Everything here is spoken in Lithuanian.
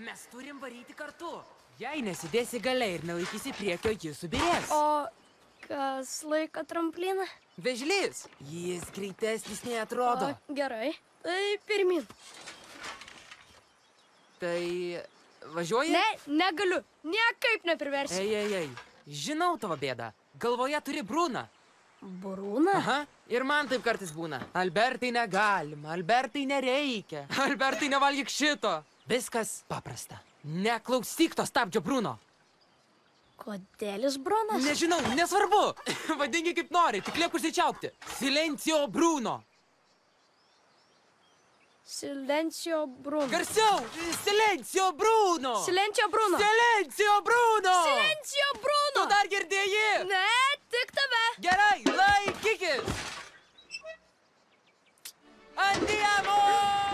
Mes turim varyti kartu. Jei nesidėsi galiai ir nelaikysi priekio, jis subirės. O kas laiko trampliną? Vežlys. Jis greitesnis nei atrodo. O, gerai. Tai pirmin. Tai važiuoji? Ne, negaliu. Niekaip nepriversiu. Ei. Žinau tavo bėdą. Galvoje turi Bruną. Brūną? Aha, ir man taip kartais būna. Albertai negalima, Albertai nereikia. Albertai nevalgyk šito. Viskas paprasta. Neklausyk to stabdžio Bruno. Kodėl jis Brunas? Nežinau, nesvarbu. Vadingi kaip nori, tik liek užsičiaupti. Silencio Bruno. Silencio Bruno. Garsiau! Silencio Bruno! Silencio Bruno. Silencio Bruno! Silencio Bruno. Tu dar girdėjai? Ne, tik tave. Gerai, laikykis! Andiamo!